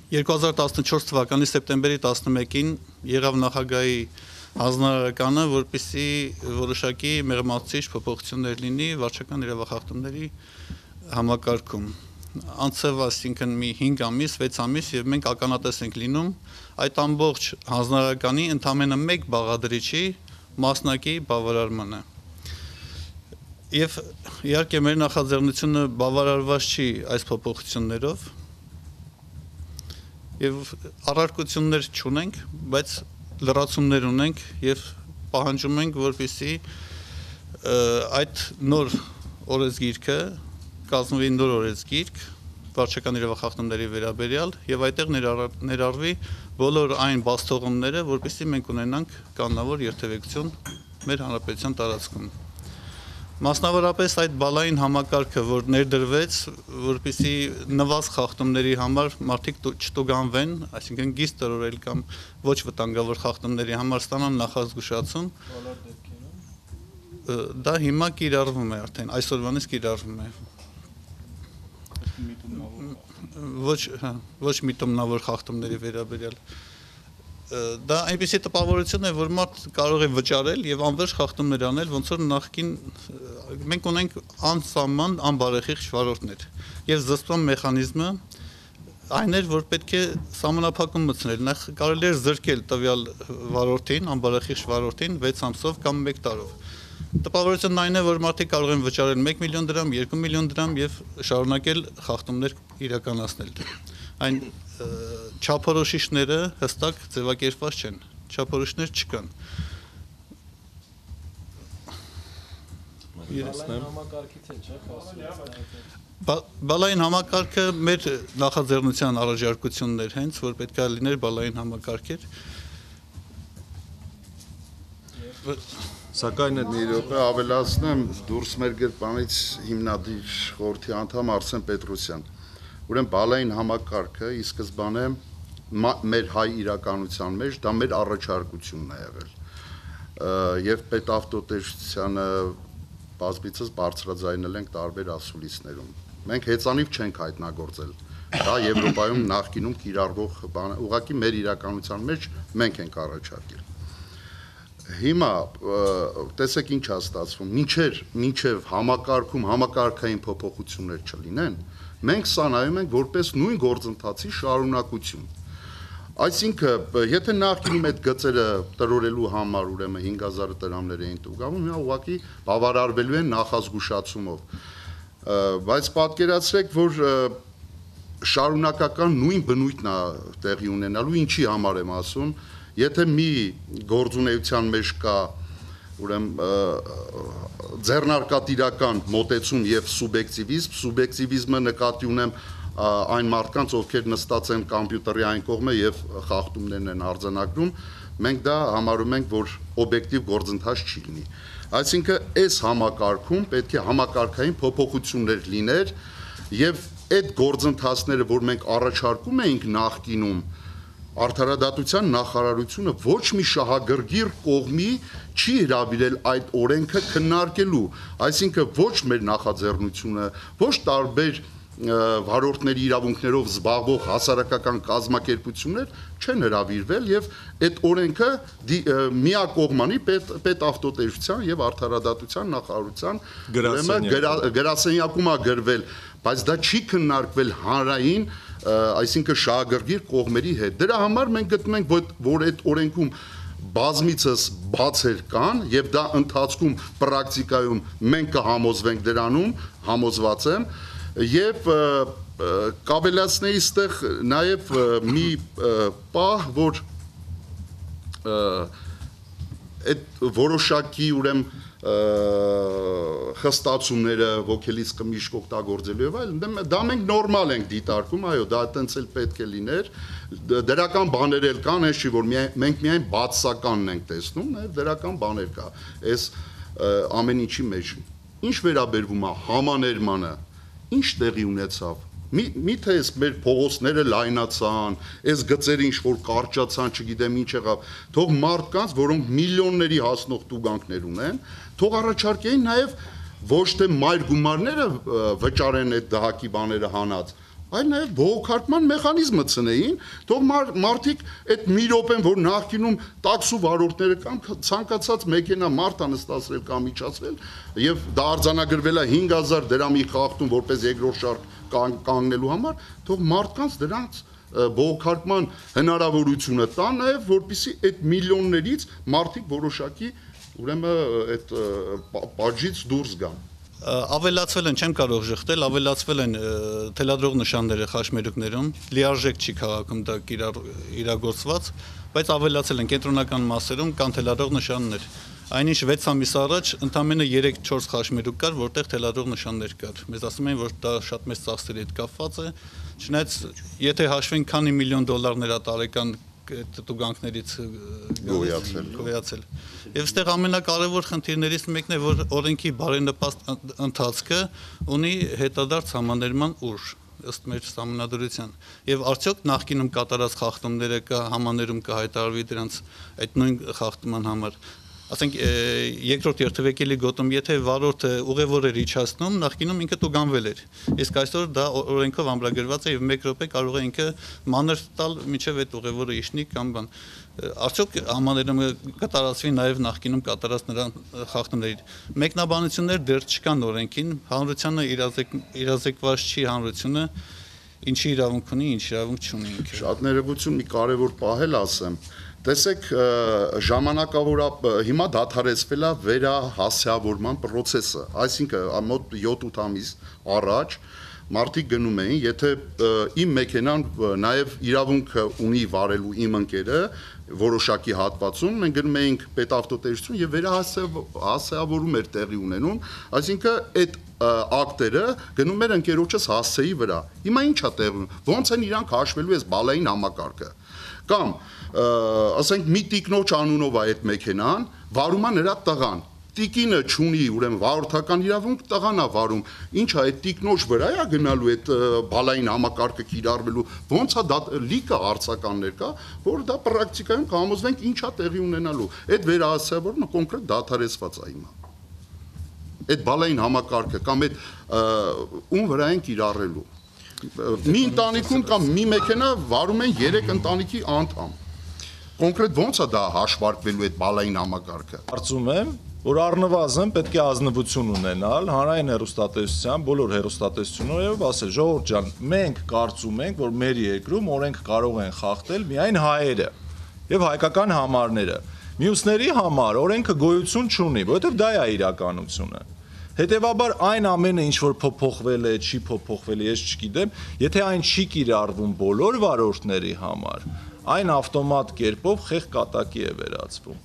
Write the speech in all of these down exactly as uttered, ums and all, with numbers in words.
երկու հազար տասնչորս թվականի սեպտեմբերի տասնմեկին եղավ նախագահի հանձնարարականը, որպեսզի որոշակի մեղմացուցիչ փոփոխություններ լինի վարչական իրավախախտումների համակարգում։ Անցավ այսինքն մի հինգ ամիս, վեց ամիս եւ մենք ականատես ենք լինում այդ ամբողջ հանձնարարականի ընդամենը մեկ բաղադրիչի մասնակի բավարարմանը։ Եվ իհարկե մեր նախաձեռնությունը բավարարված չի այս փոփոխություններով եւ առարկություններ չունենք, բայց լրացումներ ունենք եւ պահանջում ենք, որպեսզի այդ նոր օրենսգիրքը կազմվի նոր օրենսգիրք վարչական իրավախախտումների վերաբերյալ եւ այդտեղ ներառվի բոլոր այն բացթողումները, որպեսզի մենք ունենանք կանոնավոր երթևեկություն մեր հանրապետության տարածքում։ Մասնավորապես այդ բալային համակարգը, որ ներդրվեց, որպեսզի նվազ խախտումների համար մարդիկ չտուգանվեն, այսինքն գիծ տրորել կամ ոչ վտանգավոր խախտումների համար ստանան նախազգուշացում, դա հիմա կիրառվում է արդեն, այսօրվանից կիրառվում է։ Ոչ, ոչ միտումնավոր խախտումների վերաբերյալ։ Դա այնպիսի տպավորություն է, որ մարդ կարող է վճարել եւ անվերջ խախտումներ անել, ոնց որ նախքին մենք ունենք անսահման անբարեխիղճ վարորդներ եւ զսպման մեխանիզմը այն էր, որ պետք է սահմանափակում մտցնել, նախ կարելի էր զրկել տվյալ վարորդին, անբարեխիղճ վարորդին վեց ամսով կամ մեկ տարով։ Տպավորությունն այն է, որ մարդիկ կարող են վճարել մեկ միլիոն դրամ, երկու միլիոն դրամ եւ շարունակել խախտումներ իրականացնել։ Այն չափորոշիչները հստակ ձևակերպված չեն, չափորոշիչներ չկան։ Բալային համակարգը մեր նախաձեռնության առաջարկությունն էր հենց, որ պետք է լիներ բալային համակարգեր։ Սակայն մի րոպե ավելացնեմ, դուրս մեր գրպանից հիմնադիր խորհրդի անդամ Արսեն Պետրոսյան։ Ուրեմն բալային համակարգը ի սկզբանե մեր հայ իրականության մեջ դա մեր առաջարկությունն է եղել։ Եվ պետավտոտեսչությանը բազմիցս բարձրաձայնել ենք տարբեր ասուլիսներում։ Մենք հեծանիվ չենք հայտնագործել։ Դա Եվրոպայում նախկինում կիրառվող բան, ուղղակի մեր իրականության մեջ մենք ենք առաջարկել։ Հիմա տեսեք ինչ է ստացվում, մինչև մինչև համակարգում համակարգային փոփոխություններ չլինեն, մենք սա նայում ենք որպես նույն գործընթացի շարունակություն։ Այսինքն, եթե նախկինում այդ գծերը տրորելու համար ուրեմն հինգ հազար դրամներ էին տուգանվում, հիմա ուղղակի բավարարվելու են նախազգուշացումով։ Բայց պատկերացրեք, որ շարունակական նույն բնույթն է տեղի ունենալու, ինչի համար եմ ասում, եթե մի գործունեության մեջ կա ուրեմն ձեռնարկատիրական մոտեցում եւ սուբյեկտիվիզմ, սուբյեկտիվիզմը նկատի ունեմ այն մարդկանց, ովքեր նստած են կոմպյուտերի այն կողմը եւ խախտումներն են արձանագրում, մենք դա համարում ենք, որ օբյեկտիվ գործընթաց չի լինի։ Այսինքն, այս համակարգում պետք է համակարգային փոփոխություններ լիներ եւ այդ գործընթացները, որ մենք առաջարկում էինք նախկինում, Արդարադատության նախարարությունը ոչ մի շահագրգիռ կողմի չի հրավիրել այդ օրենքը քննարկելու, այսինքն ոչ մեր նախաձեռնությունը, ոչ տարբեր վարորդների իրավունքներով զբաղվող հասարակական կազմակերպություններ չեն հրավիրվել եւ այդ օրենքը միակողմանի պետավտոտեսչության եւ արդարադատության նախարարության գրասենյակում է գրվել, բայց դա չի քննարկվել հանրային, այսինքն շահագրգիռ կողմերի հետ։ Դրա համար մենք գտնում ենք, որ այդ օրենքում բազմիցս բացեր կան եւ դա ընթացքում պրակտիկայում մենք կհամոզվենք դրանում, համոզված եմ, եւ կավելացնեի ստեղ նաեւ մի պահ, որ այդ որոշակի ուրեմն խստացումները ոգելից կմիշտ օգտագործելու եւ այլն, դա մենք նորմալ ենք դիտարկում, այո, դա այտենց էլ պետք է լիներ, դրական բաներ էլ կան, հենց չի, որ մենք միայն բացասականն ենք տեսնում, նաեւ դրական բաներ կա, այս ամեն ինչի մեջ։ Ինչ վերաբերվում է համաներմանը, ինչ տեղի ունեցավ, միթե այս մեր փողոցները լայնացան, այս գծերը ինչ որ կարճացան, չգիտեմ ինչ եղավ, թող մարդկանց, որոնք միլիոնների հասնող տուգանքներ ունեն, թող առաջարկեին նաև ոչ թե մայր գումարները վճարեն այդ դահակի բաները հանած, այլ նաև բողոքարկման մեխանիզմը ցնեին, թող մարդիկ այդ մի րոպեն, որ նախկինում տաքսու վարորդները կամ ցանկացած մեքենա մարդ անստացրել կամ միջացրել, եւ դա արձանագրվել է հինգ հազար դրամի խախտում որպես երկրորդ շարք կանգնելու համար, թող մարդկանց դրանց բողոքարկման հնարավորությունը տան նաև, որպեսզի այդ միլիոններից մարդիկ որոշակի ուրեմն այդ պատժից դուրս գան։ Ավելացվել են, չեմ կարող ժխտել, ավելացվել են թելադրող նշանները խաշմերուկներում, լիարժեք չի քաղաքում դա իրագործված, բայց ավելացել են կենտրոնական մասերում կան թելադրող նշաններ։ Այնինչ վեց ամիս առաջ ընդամենը երեք չորս խաշմերուկ կար, որտեղ թելադրող նշաններ կար։ Մեզ ասում են, որ դա շատ մեծ ծախսերի հետ կապված է, չնայած եթե հաշվենք քանի միլիոն դոլարներ է տարեկան տուգանքներից գոյացել։ Եվ այստեղ ամենակարևոր խնդիրներից մեկն է, որ օրենքի բարենպաստ ընթացքը ունի հետադարձ համաներման ուժ ըստ մեր համանդրության։ Եվ արդյոք նախկինում կատարած խախտումները կա համաներում կհայտարարվի դրանց այդ նույն խախտման համար։ Ասենք երկրորդ երթևեկելի գոտում, եթե վարորդը ուղևոր էր իջացնում, նախկինում ինքը տուգանվել էր։ Իսկ այսօր դա օրենքով ամրագրված է եւ մեկ րոպե կարող է ինքը մանր տալ մինչեւ այդ ուղևորը իջնի կամ բան։ Արդյոք համաներում կատարածվի նաեւ նախկինում կատարած նրան խախտումների մեկնաբանություններ դեռ չկան օրենքին, հանրությանը իրազեկված չի հանրությունը, ինչի իրավունք ունի, ինչ իրավունք չունի ինքը։ Շատ ներողություն, մի կարևոր պահել ասեմ։ Տեսեք, ժամանակավոր հիմա դադարեցվել է վերահասյավորման process-ը, այսինքն մոտ յոթ-ութ ամիս առաջ մարդիկ գնում էին, եթե իմ մեքենան նաև իրավունք ունի վարելու իմ ընկերը որոշակի հատվածում, մենք գնում էինք պետավտոտեսություն եւ վերահասյավորում էր տեղի ունենում, այսինքն այդ ակտերը գնում էր ընկերոջս հասցեի վրա։ Հիմա ի՞նչ է տեղում, ո՞նց են իրանք հաշվելու այս բալային համակարգը։ Կամ ասենք մի տիկնոջ անունով է այդ մեքենան, վարում է նրա տղան։ Տիկինը չունի ուրեմն վարորդական իրավունք, տղան է վարում։ Ինչ է այդ տիկնոջ վրա է գնալու այդ բալային համակարգը կիրառվելու։ Ոնց է դա լիքը արցականներ կա, որ դա պրակտիկայում կհամոզվենք ինչ է տեղի ունենալու։ Այդ վերահասյավորումը կոնկրետ դադարեցված է հիմա։ Այդ բալային համակարգը կամ այդ ում վրա են կիրառելու։ Մի ընտանիքում կամ մի մեքենա վարում են երեք ընտանիքի անդամ։ Կոնկրետ ո՞նց է դա հաշվարկվելու այդ բալային համակարգը։ Կարծում եմ, որ առնվազն պետք է ազնվություն ունենալ հանրային հեռուստատեսության բոլոր հեռուստատեսություններով ասել ժողովուրդ ջան, մենք կարծում ենք, որ մեր երկրում օրենք կարող են խախտել միայն հայերը եւ հայկական համարները։ Մյուսների համար օրենքը գոյություն չունի, որովհետեւ դա է իրականությունը։ Հետևաբար այն ամենը ինչ որ փոփոխվել է, չի փոփոխվել, ես չգիտեմ, եթե այն չի կիրառվում բոլոր վարորդների համար, այն ավտոմատ կերպով խեղ կատակի է վերածվում։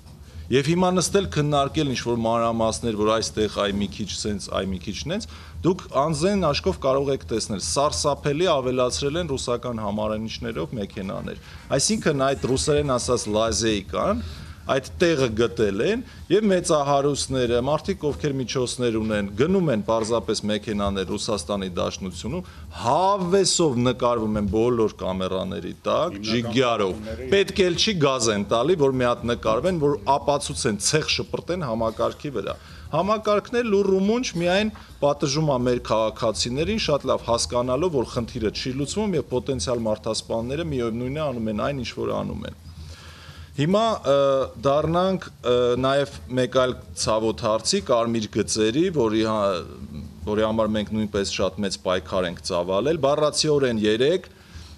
Եվ հիմա նստել քննարկել ինչ որ մանրամասներ, որ այստեղ այ մի քիչ սենց, այ մի քիչ նենց, դուք անձեն աշկով կարող եք տեսնել, սարսափելի ավելացրել են ռուսական համարանիշներով մեքենաներ։ Այսինքն այդ ռուսերեն ասած լազեիկան այդ տեղը գտել են եւ մեծահարուստները, մարդիկ ովքեր միջոցներ ունեն, գնում են պարզապես մեքենաներ Ռուսաստանի Դաշնությունում, հավեսով նկարվում են բոլոր կամերաների տակ, ջիգյարով։ Պետք էլ չի գազ են տալի, որ մի հատ նկարվեն, որ ապացուցեն, ցեղ շպրտեն համակարգի վրա։ Համակարգն է լուռ ու մունջ միայն պատժում է մեր քաղաքացիներին, շատ լավ հասկանալով, որ խնդիրը չի լուծվում եւ պոտենցիալ մարդասպանները միևնույն է անում են այն, ինչ որ անում են։ Հիմա դառնանք նաև մեկ այլ ցավոտ հարցի կարմիր գծերի, որի որի համար մենք նույնպես շատ մեծ պայքար ենք ծավալել, բառացիորեն երեք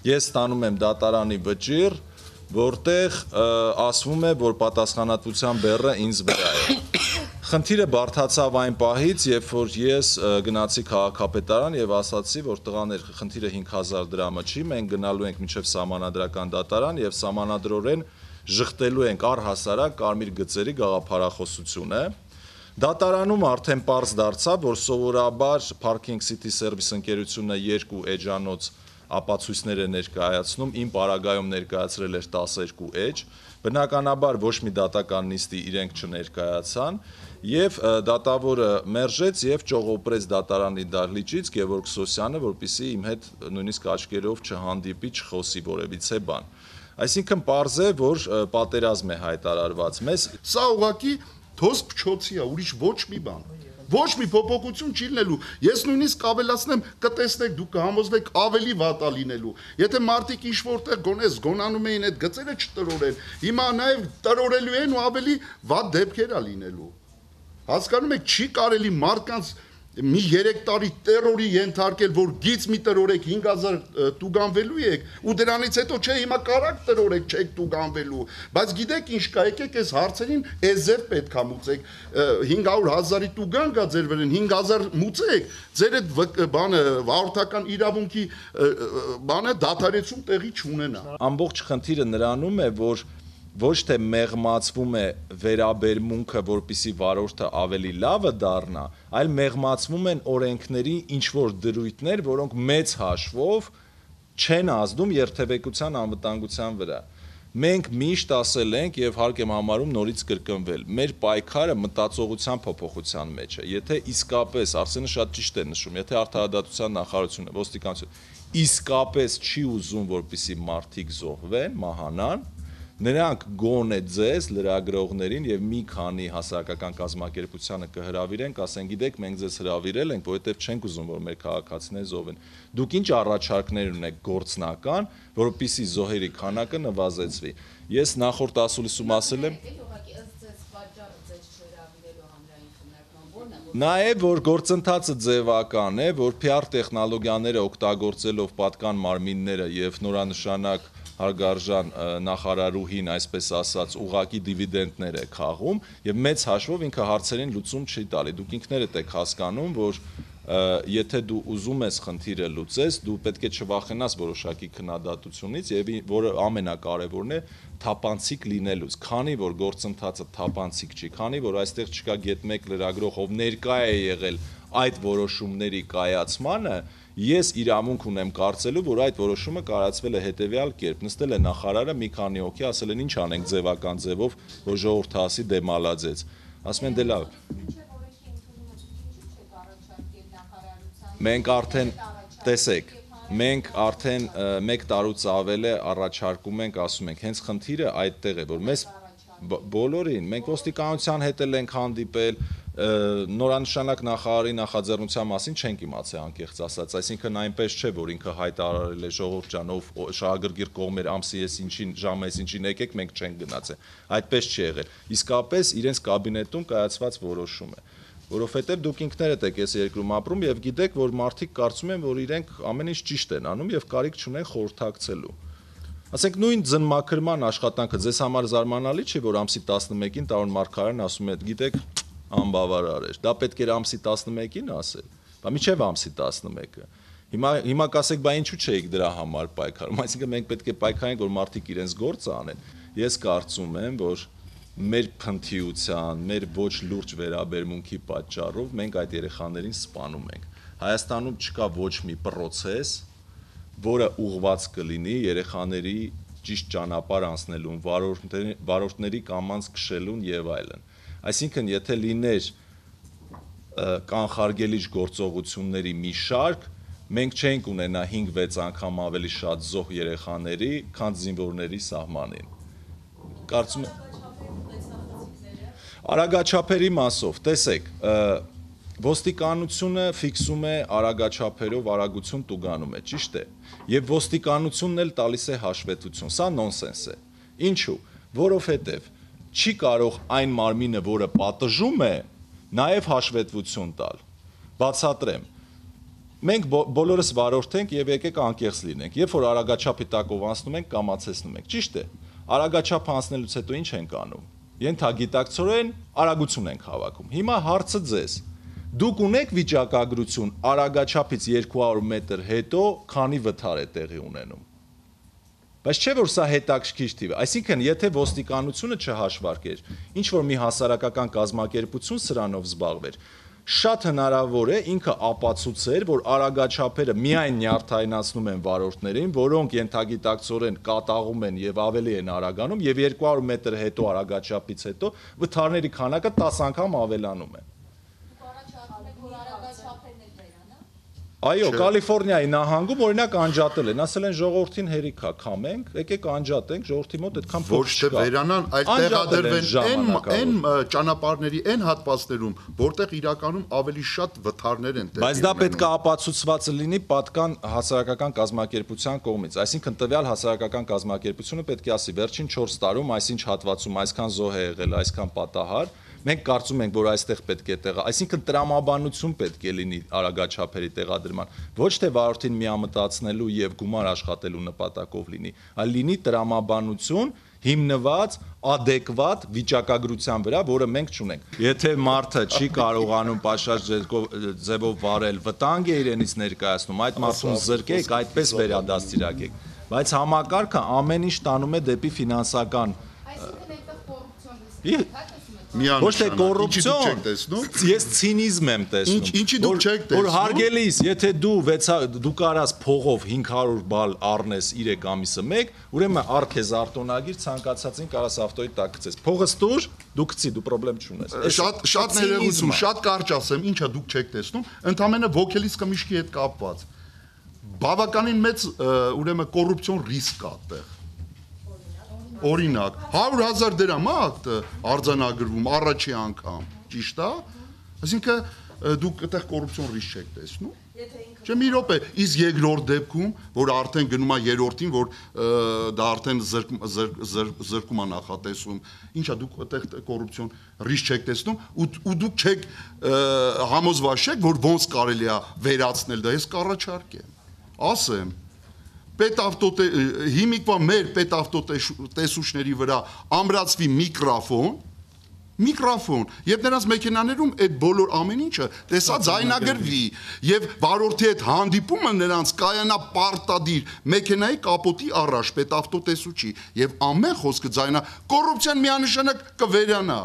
ես ստանում եմ դատարանի վճիռ, որտեղ ասվում է, որ պատասխանատվության բեռը ինձ վրա է։ Խնդիրը բարդացավ այն պահից, երբ որ ես գնացի քաղաքապետարան եւ ասացի, որ տղաներ, խնդիրը հինգ հազար դրամը չի, մենք գնալու ենք մինչեւ սահմանադրական դատարան եւ սահմանադրորեն ժխտելու ենք առհասարակ կարմիր գծերի գաղափարախոսությունը։ Դատարանում արդեն պարզ դարձավ, որ սովորաբար Parking City Service ընկերությունը երկու էջանոց ապացույցներ է ներկայացնում, իմ պարագայում ներկայացրել էր տասներկու էջ, բնականաբար ոչ մի դատական նիստի իրենք չներկայացան, եւ դատավորը մերժեց եւ ճողոպրեց դատարանի դահլիճից Գևորգ Սոսյանը, որպեսզի իմ հետ նույնիսկ աչքերով չհանդիպի, չխոսի որևիցե բան։ Այսինքն պարզ է, որ պատերազմ է հայտարարված մեզ։ Սա ուղղակի թոս փչոցի է, ուրիշ ոչ մի բան։ ոչ մի փոփոխություն չի լինելու։ Ես նույնիսկ ավելացնեմ, կտեսնեք, դուք կհամոզվեք ավելի վատ է լինելու։ Եթե մարդիկ ինչ որտեղ գոնե զգոնանում էին այդ գծերը չտրորեն, հիմա նաև տրորելու են ու ավելի վատ դեպքեր է լինելու։ Հասկանում եք, չի կարելի մարդկանց մի երեք տարի տերորի ենթարկել, որ գից մի տրորեք հինգ հազար տուգանվելու եք, ու դրանից հետո չէ հիմա կարակ տրորեք չեք տուգանվելու, բայց գիտեք ինչ կա, եկեք այս հարցերին էզև պետք է մուծեք, հինգ հարյուր հազարի տուգան կա ձեր վրան, հինգ հազար մուծեք, ձեր այդ բանը վարորդական իրավունքի բանը դադարեցում տեղի չունենա։ Ամբողջ խնդիրը նրանում է, որ ոչ թե մեղմացվում է վերաբերմունքը, որպիսի վարորդը ավելի լավը դառնա, այլ մեղմացվում են օրենքների ինչ-որ դրույթներ, որոնք մեծ հաշվով չեն ազդում երթևեկության անվտանգության վրա։ Մենք միշտ ասել ենք եւ հարկ եմ համարում նորից կրկնվել, մեր պայքարը մտածողության փոփոխության մեջ է։ Եթե իսկապես, Արսենը շատ ճիշտ է նշում, եթե արդարադատության նախարարությունը, ոստիկանությունը իսկապես չի ուզում, որպիսի մարդիկ զոհվեն, մահանան, նրանք գոնե ձեզ լրագրողներին եւ մի քանի հասարակական կազմակերպությանը կհրավիրեն, կասեն, գիտեք, մենք ձեզ հրավիրել ենք, որովհետեւ չենք ուզում, որ մեր քաղաքացիները զոհվեն։ Դուք ինչ առաջարկներ ունեք գործնական, որպեսզի զոհերի քանակը նվազեցվի։ Ես նախորդ ասուլիսում ասել եմ, Նաև որ գործընթացը ձևական է, որ P R տեխնոլոգիաները օգտագործելով պատկան մարմինները եւ նորանշանակ հարգարժան նախարարուհին, այսպես ասած, ուղակի դիվիդենդներ է քաղում եւ մեծ հաշվով ինքը հարցերին լուծում չի տալի։ Դուք ինքներդ եք հասկանում, որ եթե դու ուզում ես խնդիրը լուծես, դու պետք է չվախենաս որոշակի քննադատությունից եւ որը ամենակարևորն է թափանցիկ լինելուց, քանի որ գործընթացը թափանցիկ չի, քանի որ այստեղ չկա գետ մեկ լրագրող, ով ներկա է եղել այդ որոշումների կայացմանը, ես իրավունք ունեմ կարծելու, որ այդ որոշումը կայացվել է հետեւյալ կերպ, նստել է նախարարը մի քանի հոգի, ասել են ինչ անենք ձևական ձևով, որ ժողովուրդը ասի դե մալաձեց, ասում են դե լավ։ Մենք արդեն, տեսեք, մենք արդեն մեկ տարուց ավել է առաջարկում ենք, ասում ենք, հենց խնդիրը այդտեղ է, որ մեզ բոլորին, մենք ոստիկանության հետ էլ ենք հանդիպել, նորանշանակ նախարարի նախաձեռնության մասին չենք իմացել անկեղծ ասած, այսինքն այնպես չէ, որ ինքը հայտարարել է ժողովուրդ ջան, ով շահագրգիռ կողմեր ամսի ես ինչին, ժամը ես ինչին եկեք, մենք չենք գնացել, այդպես չի եղել, իսկապես իրենց կաբինետում կայացված որոշում է, որովհետև դուք ինքներդ եք այս երկրում ապրում եւ գիտեք, որ մարդիկ կարծում են, որ իրենք ամեն ինչ ճիշտ են անում եւ կարիք չունեն խորհրդակցելու։ Ասենք նույն ձնմաքրման աշխատանքը ձեզ համար զարմանալի չի, որ ամսի տասնմեկին Տարոն Մարգարյանն ասում է, գիտեք, անբավարար էր։ Դա պետք էր ամսի տասնմեկին ասել, բա միջև ամսի տասնմեկը։ Հիմա հիմա կասեք, բա ինչու չէիք դրա համար պայքարում։ Այսինքն մենք պետք է պայքարենք, որ մարդիկ իրենց գործը անեն։ Ես կարծում եմ, որ մեր փնթիության, մեր ոչ լուրջ վերաբերմունքի պատճառով մենք այդ երեխաներին սպանում ենք։ Հայաստանում չկա ոչ մի process, որը ուղղված կլինի երեխաների ճիշտ ճանապարհ անցնելուն, վարորդների, վարորդների կամանց քշելուն եւ այլն։ Այսինքն, եթե լիներ կանխարգելիչ գործողությունների մի շարք, մենք չենք ունենա հինգ-վեց անգամ ավելի շատ զոհ երեխաների, քան զինվորների սահմանին։ Կարծում եմ Արագաչափերի մասով, տեսեք, ոստիկանությունը ֆիքսում է արագաչափերով արագություն տուգանում է, ճիշտ է, եւ ոստիկանությունն էլ տալիս է հաշվետվություն, սա նոնսենս է, ինչու, որովհետեւ չի կարող այն մարմինը, որը պատժում է, նաեւ հաշվետվություն տալ, բացատրեմ, մենք բոլորս վարորդ ենք եւ եկեք անկեղծ լինենք, երբ որ արագաչափի տակով անցնում ենք, կամացեցնում ենք, ճիշտ է, արագաչափ անցնելուց հետո ինչ ենք անում, ենթագիտակցորեն արագություն ենք հավաքում, հիմա հարցը ձեզ, դուք ունեք վիճակագրություն արագաչափից երկու հարյուր մետր հետո քանի վթար է տեղի ունենում, բայց չէ որ սա հետաքրքիր թիվ է, այսինքն եթե ոստիկանությունը չհաշվարկեր, ինչ որ մի հասարակական կազմակերպություն սրանով զբաղվեր, շատ հնարավոր է ինքը ապացուցեր, որ արագաչափերը միայն նյարդայնացնում են վարորդներին, որոնք ենթագիտակցորեն կատաղում են եւ ավելի են արագանում եւ երկու հարյուր մետր հետո արագաչափից հետո վթարների քանակը տասը անգամ ավելանում է։ Այո, Կալիֆոռնիայի նահանգում օրինակ անջատել են, ասել են ժողովրդին հերիք է, քամենք, եկեք անջատենք, ժողովրդի մոտ այդքան փող Ոչ թե վերանան, այլ տեղադրվեն այն ճանապարհների, այն հատվածներում, որտեղ իրականում ավելի շատ վթարներ են տեղի ունենում։ Բայց դա պետք է ապացուցված լինի պատկան հասարակական կազմակերպության կողմից, այսինքն տվյալ հասարակական կազմակերպությունը պետք է ասի վերջին չորս տարում այսինչ հատվածում այսքան զոհ է եղել, այսքան պատահար, մենք կարծում ենք, որ այստեղ պետք է տեղա, այսինքն տրամաբանություն պետք է լինի արագաչափերի տեղադրման, ոչ թե վարորդին միամտածնելու եւ գումար աշխատելու նպատակով լինի, այլ լինի տրամաբանություն հիմնված adekvat վիճակագրության վրա, որը մենք չունենք։ Եթե մարդը չի կարողանում պաշարժ ձևով վարել, վտանգ է իրենից ներկայացնում, այդ մարդուն զրկեք, այդպես վերադաստիարակեք։ Բայց համակարգը ամեն ինչ տանում է դեպի ֆինանսական Ոչ թե կոռուպցիոն, ես ցինիզմ եմ տեսնում։ Ինչի դուք չեք տեսնում։ Որ հարգելիս, եթե դու դու կարաս փողով հինգ հարյուր բալ առնես երեք ամիսը մեկ, ուրեմն առքեզ արտոնագիր ցանկացածին կարաս ավտոյի տակ գցես։ Փողը ստուր, դու գցի, դու խնդրեմ չունես։ Շատ շատ ներողություն, շատ կարճ ասեմ, ինչա դուք չեք տեսնում, ընդամենը ոգելից կմիշքի հետ կապված։ Բավականին մեծ ուրեմն կոռուպցիոն ռիսկ կա այդտեղ։ Օրինակ, հարյուր հազար դրամ է ակտը արձանագրվում առաջի անգամ, ճիշտ է։ Այսինքն դուք այդտեղ կոռուպցիոն ռիսկ չեք տեսնում։ Չէ՞ մի րոպե, իսկ երկրորդ դեպքում, որ արդեն գնում է երրորդին, որ դա արդեն զրկում է նախատեսում, ինչա դուք այդտեղ կոռուպցիոն ռիսկ չեք տեսնում ու դուք չեք համոզված չեք, որ ոնց կարելի է վերացնել դա, ես կառաջարկեմ։ Ասեմ պետավտոտե հիմիկվա մեր պետավտոտեսուչների վրա ամրացվի միկրոֆոն, միկրոֆոն, եւ նրանց մեքենաներում այդ բոլոր ամեն ինչը տեսա ձայնագրվի եւ վարորդի հետ հանդիպումը նրանց կայանա պարտադիր մեքենայի կապոտի առաջ պետավտոտեսուչի եւ ամեն խոսքը ձայնա կոռուպցիան միանշանակ կվերանա։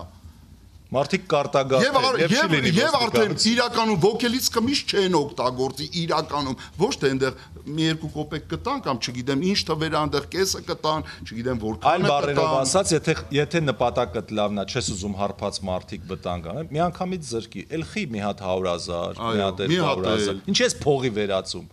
Մարդիկ կարտագաղթեն եւ չի լինի եւ արդեն իրականում ոգելից կմիշտ չեն օգտագործի իրականում ոչ թե այնտեղ մի երկու կոպեկ կտան կամ չգիտեմ ինչ թվեր այնտեղ կեսը կտան, չգիտեմ որքան այլ բառերով ասած, եթե եթե նպատակը լավն է, չես ուզում հարբած մարդիկ վտանգ անեն, մի անգամից զրկի, էլ խի մի հատ հարյուր հազար, մի հատ հարյուր հազար։ Ինչ ես փողի վերածում։